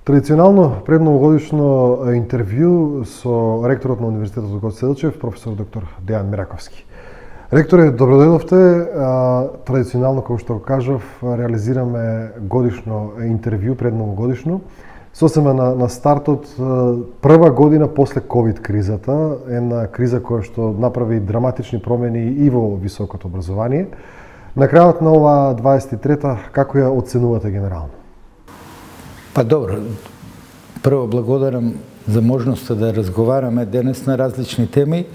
Традиционално предновогодишно интервју со ректорот на Универзитетот Гоце Делчев, професор доктор Дејан Мираковски. Ректоре, добродојдовте. Традиционално, како што кажав, реализираме годишно интервју, предновогодишно. Сосема на стартот, прва година после ковид кризата, една криза која што направи драматични промени и во високото образование. На крајот на ова 23-та, како ја оценувате генерално? Па добро, прво благодарам за можноста да разговараме денес на различни теми.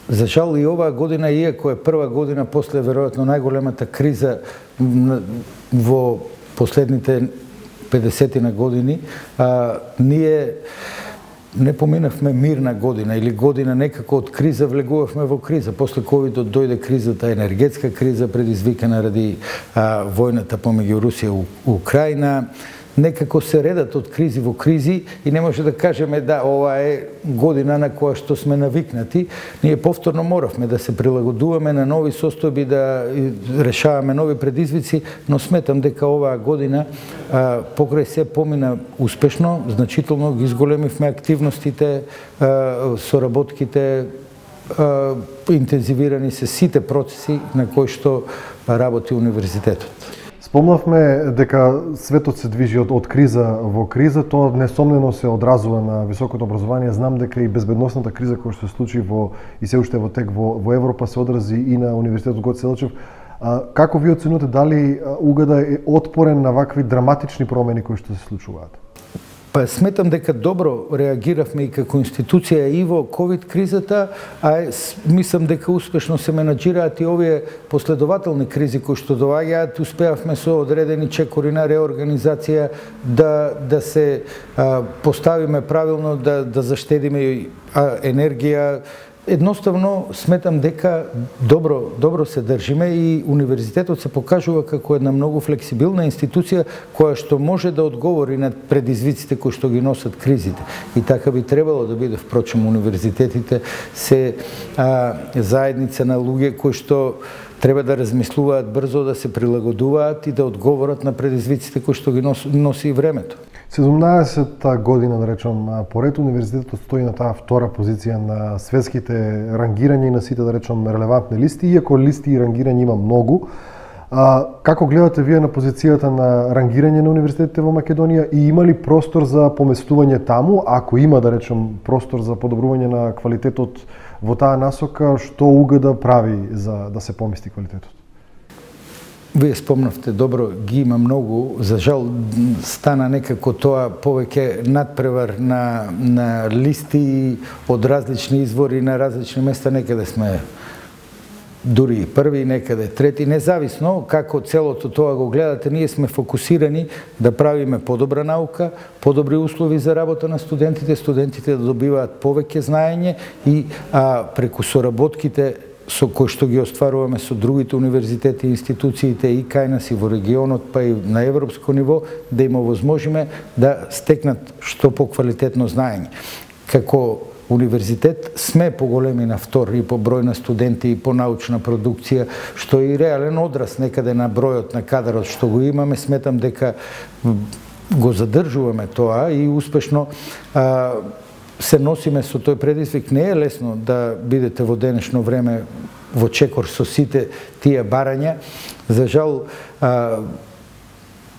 За жал и оваа година, иако е прва година после веројатно најголемата криза во последните 50 години, ние не поминавме мирна година или година некако од криза влегувавме во криза. После ковидот дојде кризата, енергетска криза предизвикана ради војната помеѓу Русија и Украина. Некако се редат од кризи во кризи и не може да кажеме да ова е година на која што сме навикнати. Ние повторно моравме да се прилагодуваме на нови состојби, да решаваме нови предизвици, но сметам дека оваа година покрај се помина успешно, значително ги изголемивме активностите, соработките, интензивирани се сите процеси на кои што работи универзитетот. Спомнавме дека светот се движи од криза во криза, тоа несомнено се одразува на високото образование. Знам дека и безбедносната криза која што се случи и се уште во тек во Европа се одрази и на Универзитетот Гоце Делчев. Како ви оценувате, дали УГД е отпорен на вакви драматични промени кои што се случуваат? Па сметам дека добро реагиравме и како институција и во ковид кризата, а мислам дека успешно се менаџираат и овие последователни кризи кои што доаѓаат. Успеавме со одредени чекори на реорганизација да се поставиме правилно, да заштедиме енергија. Едноставно сметам дека добро се држиме и универзитетот се покажува како една многу флексибилна институција која што може да одговори на предизвиците кои што ги носат кризите. И така би требало да биде. Впрочем, универзитетите се заедница на луѓе кои што треба да размислуваат брзо, да се прилагодуваат и да одговорат на предизвиците кои што ги носи и времето. 17-та година, да речем, поред универзитетот стои на таа втора позиција на светските рангирања и на сите, да речем, релевантни листи, иако листи и рангирања има многу. Како гледате вие на позицијата на рангирање на универзитетите во Македонија и има ли простор за поместување таму? Ако има, да речем, простор за подобрување на квалитетот во таа насока, што УГД прави за да се помести квалитетот? Вие спомнавте добро, ги има многу. За жал стана некако тоа повеќе надпревар на листи од различни извори на различни места. Некаде сме дури први, некаде трети. Независно како целото тоа го гледате, ние сме фокусирани да правиме подобра наука, подобри услови за работа на студентите, студентите да добиваат повеќе знаење и преку соработките со кои што ги остваруваме со другите универзитети и институциите и кај нас и во регионот, па и на европско ниво, да им овозможиме да стекнат што поквалитетно знаење. Како универзитет сме поголеми на втор и по број на студенти и по научна продукција, што е и реален одраз некаде на бројот на кадарот што го имаме. Сметам дека го задржуваме тоа и успешно се носиме со тој предизвик. Не е лесно да бидете во денешно време во чекор со сите тие барања. За жал,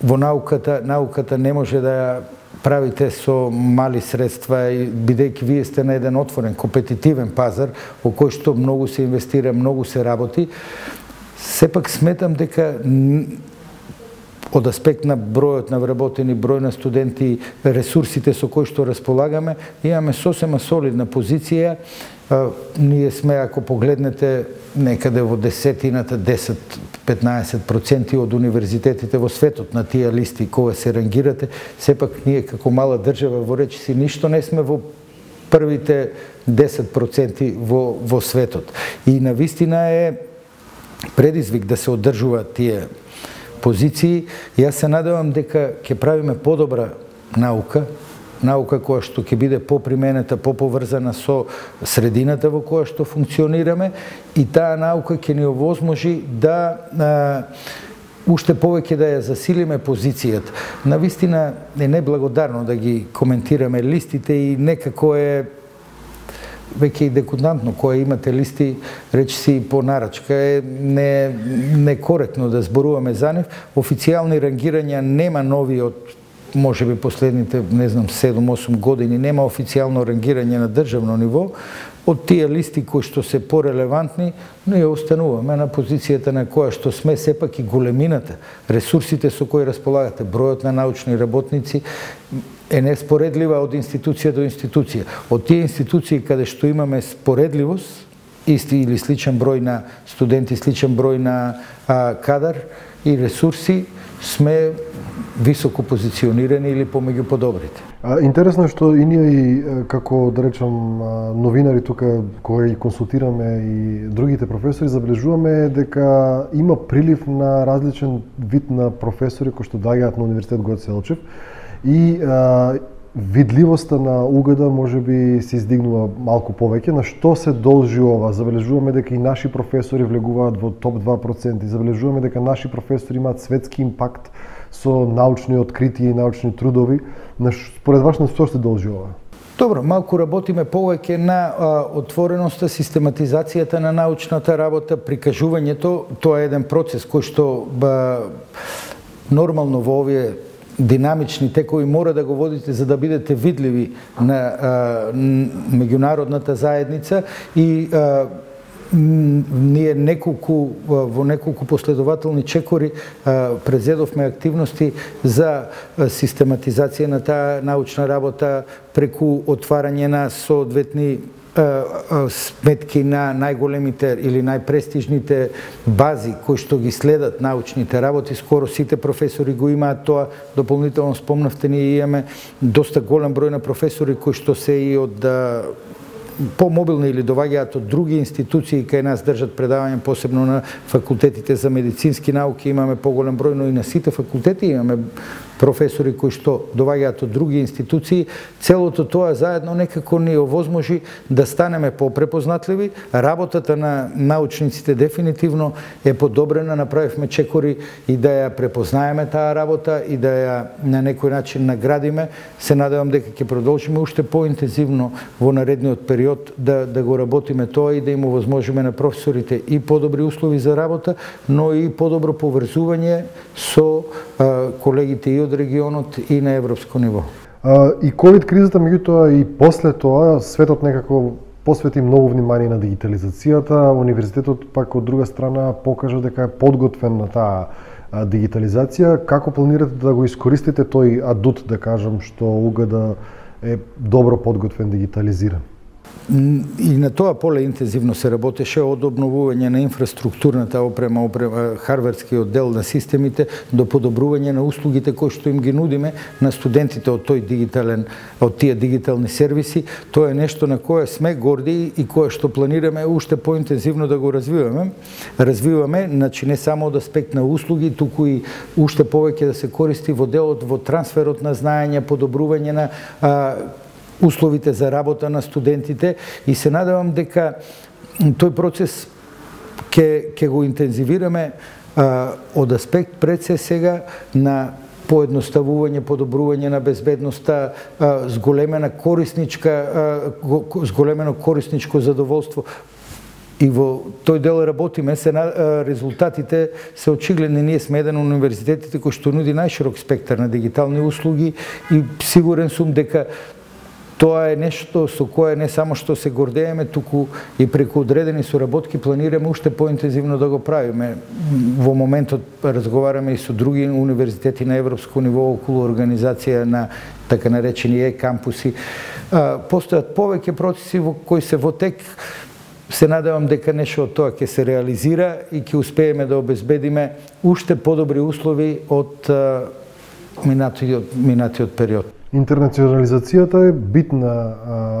во науката не може да ја правите со мали средства, бидејќи вие сте на еден отворен, компетитивен пазар во кој што многу се инвестира, многу се работи. Сепак сметам дека од аспект на бројот на вработени, број на студенти, ресурсите со кои што располагаме, имаме сосема солидна позиција. Ние сме, ако погледнете, некаде во десетината, 10-15% од универзитетите во светот на тие листи кога се рангирате. Сепак ние како мала држава во речиси ништо не сме во првите 10% во светот. И навистина е предизвик да се одржуваат тие позиции. Јас се надевам дека ќе правиме подобра наука која што ќе биде поприменета, поповрзана со средината во која што функционираме и таа наука ќе ни овозможи да уште повеќе да ја засилиме позицијата. Навистина е неблагодарно да ги коментираме листите и некако е веќе и декутантно, кога имате листи, речиси по нарачка, е некоректно да зборуваме за нив. Официјални рангирања нема нови од може би последните, не знам, 7-8 години, нема официјално рангирање на државно ниво. Од тие листи кои што се порелевантни, ние остануваме на позицијата на која што сме, сепак и големината, ресурсите со кои располагате, бројот на научни работници е неспоредлива од институција до институција. Од тие институции каде што имаме споредливост, исти или сличен број на студенти, сличен број на кадар и ресурси, сме високо позиционирани или помеѓу подобрите. Интересно е што и ние, како да речам новинари тука, кога ги консултираме и другите професори, забележуваме дека има прилив на различен вид на професори кои што доаѓаат на Универзитет Гоце Делчев и видливоста на УГД можеби се издигнува малку повеќе. На што се должи ова? Забележуваме дека и наши професори влегуваат во топ 2%, забележуваме дека наши професори имаат светски импакт со научни откритија и научни трудови. Според вас на што се должи ова? Добро, малку работиме повеќе на отвореноста, систематизацијата на научната работа, прикажувањето. Тоа е еден процес кој што нормално во овие динамични текови мора да го водите за да бидете видливи на меѓународната заедница и ние во неколку последователни чекори презедовме активности за систематизација на таа научна работа преку отварање на соодветни сметки на најголемите или најпрестижните бази кои што ги следат научните работи. Скоро сите професори го имаат тоа. Дополнително спомнавте, ние имаме доста голем број на професори кои што се и од помобилни или доваѓаат од други институции кај нас држат предавања, посебно на факултетите за медицински науки имаме поголем број, но и на сите факултети имаме професори кои што доваѓаат од други институции. Целото тоа заедно некако ни овозможи да станеме попрепознатливи. Работата на научниците дефинитивно е подобрена, направивме чекори и да ја препознаеме таа работа и да ја на некој начин наградиме. Се надевам дека ќе продолжиме уште поинтензивно во наредниот период да го работиме тоа и да им овозможиме на професорите и подобри услови за работа, но и подобро поврзување со колегите и од регионот и на европско ниво. И ковид кризата, меѓутоа и после тоа, светот некако посвети многу внимание на дигитализацијата. Универзитетот пак од друга страна покажа дека е подготвен на таа дигитализација. Како планирате да го искористите тој адут, да кажам, што УГД е добро подготвен, дигитализиран? И на тоа поле интензивно се работеше, од обновување на инфраструктурната опрема, хардверскиот дел на системите, до подобрување на услугите кои што им ги нудиме на студентите од тие дигитални сервиси. Тоа е нешто на кое сме горди и кое што планираме уште поинтензивно да го развиваме, значи не само од аспект на услуги, туку и уште повеќе да се користи во делот во трансферот на знаење, подобрување на условите за работа на студентите и се надевам дека тој процес ќе го интензивираме од аспект пред се сега на поедноставување, подобрување на безбедноста, зголемено корисничко задоволство. И во тој дел работиме, резултатите се очигледни. Ние сме еден од универзитетите кој што нуди најширок спектар на дигитални услуги и сигурен сум дека тоа е нешто со кое не само што се гордееме, туку и преку одредени соработки планираме уште поинтензивно да го правиме. Во моментот разговараме и со други универзитети на европско ниво околу организација на така наречени е-кампуси. Постојат повеќе процеси кои се во тек. Се надевам дека нешто од тоа ќе се реализира и ќе успееме да обезбедиме уште подобри услови од минатиот период. Интернационализацијата е битна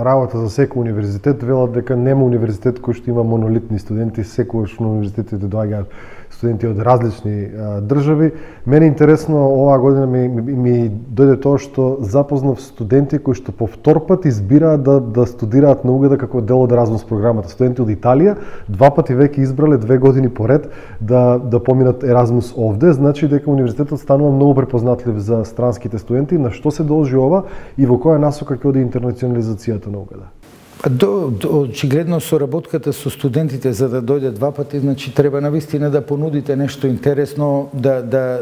работа за секој универзитет. Велат дека нема универзитет кој што има монолитни студенти, секогаш на универзитетите доаѓаат студенти од различни држави. Мене интересно оваа година ми дојде тоа што запознав студенти кои што по втор пат избираат да студираат на Угада како дел од Еразмус програмата. Студенти од Италија 2 пати веќе избрале 2 години поред да поминат Еразмус овде, значи дека универзитетот станува многу препознатлив за странските студенти. На што се должи ова и во која насока ќе оди интернационализацијата на Угада? Очигледно соработката со студентите за да дојде 2 пати, значи треба навистина да понудите нешто интересно, да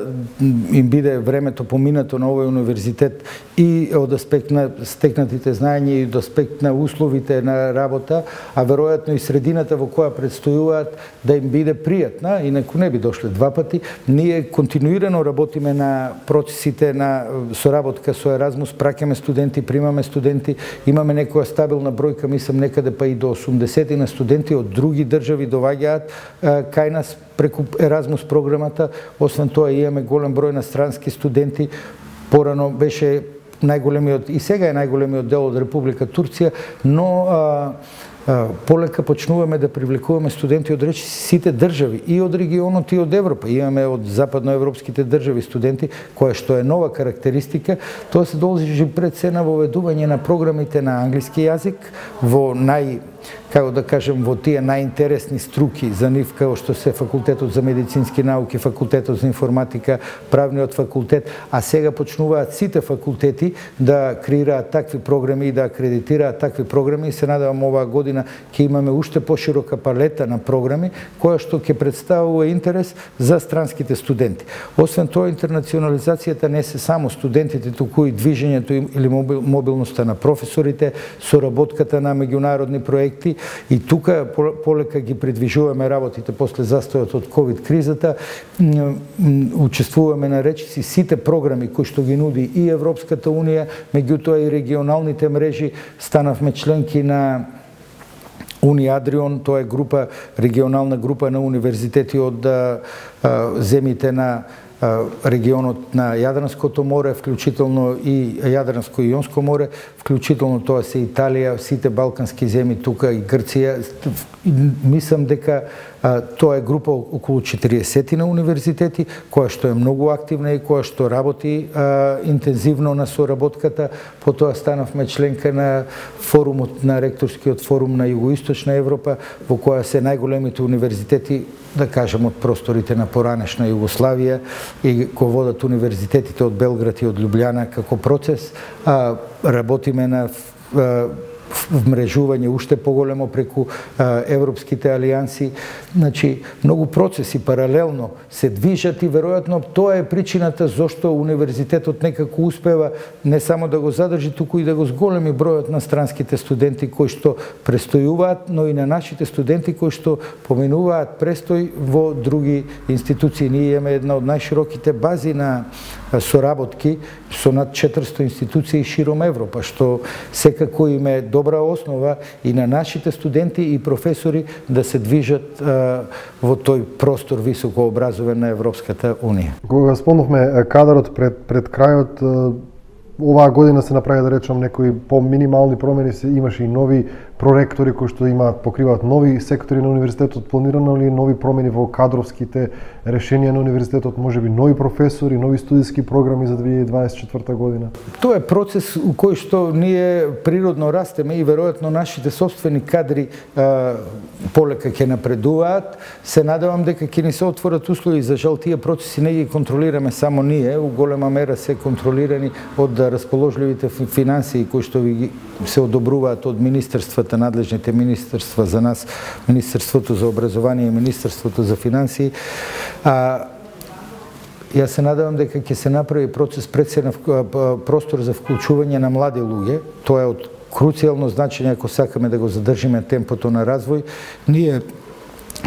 им биде времето поминато на овој универзитет и од аспект на стекнатите знаења и од аспект на условите на работа, а веројатно и средината во која предстојуваат да им биде пријатна, инаку не би дошле 2 пати. Ние континуирано работиме на процесите на соработка со Еразмус, праќаме студенти, примаме студенти, имаме некоја стабилна бројка, мислам некаде па и до 80 на студенти од други држави доваѓаат кај нас преку Еразмус програмата. Освен тоа имаме голем број на странски студенти. Порано беше најголемиот и сега е најголемиот дел од Република Турција, но полека почнуваме да привлекуваме студенти од сите држави, и од регионот и од Европа. Имаме од западноевропските држави студенти, која што е нова карактеристика. Тоа се должи пред се на воведување на програмите на англиски јазик во како да кажем, во тие најинтересни струки за нив, како што се факултетот за медицински науки, факултетот за информатика, правниот факултет, а сега почнуваат сите факултети да креираат такви програми и да акредитираат такви програми, и се надевам оваа година ќе имаме уште поширока палета на програми која што ќе представува интерес за странските студенти. Освен тоа, интернационализацијата не се само студентите, туку и движењето или мобилноста на професорите, соработката на меѓународни проекти. И тука полека ги придвижуваме работите после застојот од ковид кризата. Учествуваме на речиси сите програми кои што ги нуди и Европската унија, меѓутоа и регионалните мрежи. Станавме членки на Униадрион, тоа е регионална група на универзитети од земјите на регионот на Јадранското море, вклучително и Јадранско-Ионско море, вклучително тоа се Италија, сите балкански земји, тука и Грција. Мислам дека тоа е група околу 40 на универзитети, која што е многу активна и која што работи интензивно на соработката. Потоа станавме членка на форумот, на ректорскиот форум на Југоисточна Европа, во која се најголемите универзитети, да кажем, од просторите на поранешна Југославија, и кој водат универзитетите од Белград и од Љубљана како процес. Работиме на вмрежување уште поголемо преку европските алијанси. Значи, многу процеси паралелно се движат и веројатно тоа е причината зошто универзитетот некако успева не само да го задржи, туку и да го зголеми бројот на странските студенти кои што престојуваат, но и на нашите студенти кои што поминуваат престој во други институции. Ние имаме една од најшироките бази на соработки со над 400 институции широм Европа, што секако им е добра основа и на нашите студенти и професори да се движат во тој простор високо образовен на Европската Унија. Кога спомнавме кадарот пред крајот, оваа година се направи, да речам, некои по-минимални промени, имаше и нови проректори кои што покриваат нови сектори на универзитетот. Планирано ли нови промени во кадровските решенија на универзитетот, можеби нови професори, нови студиски програми за 2024 година? Тоа е процес у кој што ние природно растеме и веројатно нашите собствени кадри полека ќе напредуваат. Се надевам дека ќе ни се отворат услови. За жал, тие процеси не ги контролираме само ние, у голема мера се контролирани од расположливите финансии кои што се одобруваат од министерствата, надлежните министерства за нас, Министерството за образование и Министерството за финансии. Јас се надевам дека ќе се направи процес пред се на простор за вклучување на млади луѓе. Тоа е од круцијално значење ако сакаме да го задржиме темпото на развој. Ние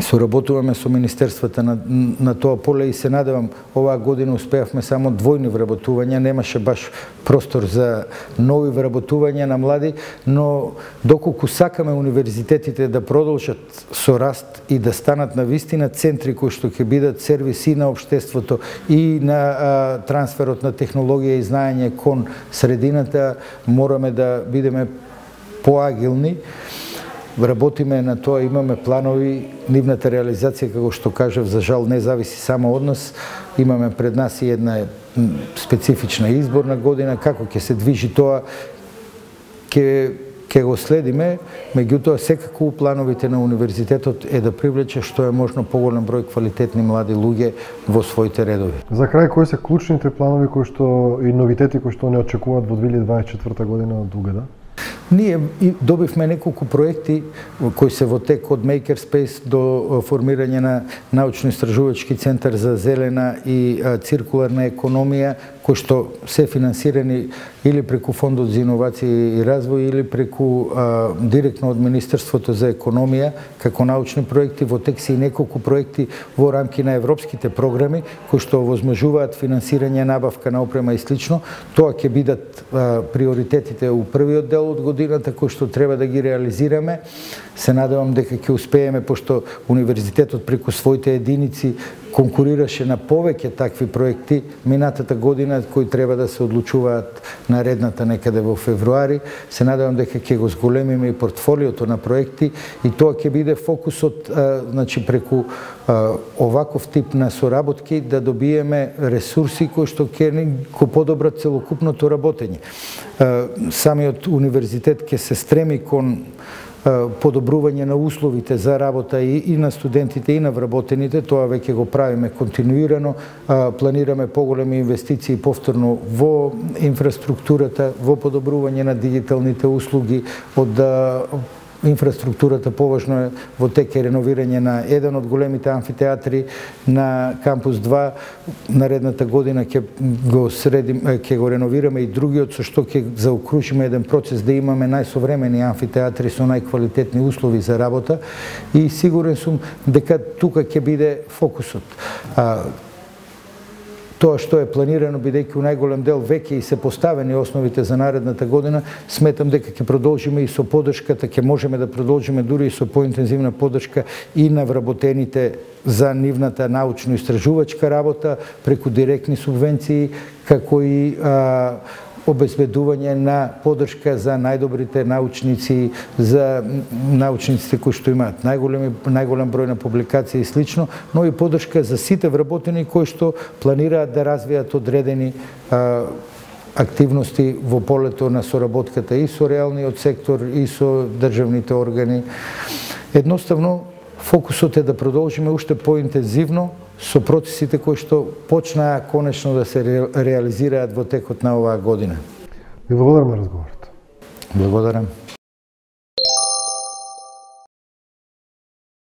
соработуваме со министерствата на тоа поле и се надевам оваа година успеавме само двојни вработувања, немаше баш простор за нови вработувања на млади, но доколку сакаме универзитетите да продолжат со раст и да станат на вистина центри кои што ќе бидат сервиси на општеството и на трансферот на технологија и знаење кон средината, мораме да бидеме поагилни. работиме на тоа, имаме планови, нивната реализација, како што кажав, за жал не зависи само од нас. Имаме пред нас и една специфична изборна година, како ќе се движи тоа, ќе го следиме, меѓутоа секако плановите на универзитетот е да привлече што е можно поголем број квалитетни млади луѓе во своите редови. За крај, кои се клучните планови кои што и новитети кои што не очекуваат во 2024 година од УГД? Ние добивме неколку проекти кои се во тек, од Makerspace до формирање на научно-истражувачки центар за зелена и циркуларна економија, кои што се финансирани или преку Фондот за иновации и развој или преку директно од Министерството за економија како научни проекти. Во тек се и неколку проекти во рамки на европските програми кои што овозможуваат финансирање, набавка на опрема и слично. Тоа ќе бидат приоритетите у првиот дел од годината кои што треба да ги реализираме. Се надевам дека ќе успееме, пошто универзитетот преку своите единици конкурираше на повеќе такви проекти минатата година кои треба да се одлучуваат наредната некаде во февруари. Се надевам дека ќе го зголемиме и портфолиото на проекти и тоа ќе биде фокусот, значи преку оваков тип на соработки да добиеме ресурси кои што ќе го подобрат целокупното работење. Самиот универзитет ќе се стреми кон подобрување на условите за работа и на студентите и на вработените. Тоа веќе го правиме континуирано. Планираме поголеми инвестиции повторно во инфраструктурата, во подобрување на дигиталните услуги, од инфраструктурата поважно е во тек е реновирање на еден од големите амфитеатри на кампус 2. Наредната година ќе го реновираме и другиот, со што ќе заокружиме еден процес да имаме најсовремени амфитеатри со најквалитетни услови за работа и сигурен сум дека тука ќе биде фокусот. Тоа што е планирано, бидејќи у најголем дел веќе и се поставени основите за наредната година, сметам дека ќе продолжиме и со поддршката, ќе можеме да продолжиме дури и со поинтензивна поддршка и на вработените за нивната научно-истражувачка работа преку директни субвенции, како и обезбедување на поддршка за најдобрите научници, за научниците кои што имаат најголем број на публикации и слично, но и поддршка за сите вработени кои што планираат да развијат одредени активности во полето на соработката и со реалниот сектор и со државните органи. Едноставно, фокусот е да продолжиме уште поинтензивно со процесите кои што почнаа конечно да се реализираат во текот на оваа година. Ви благодарам на разговорот. Благодарам.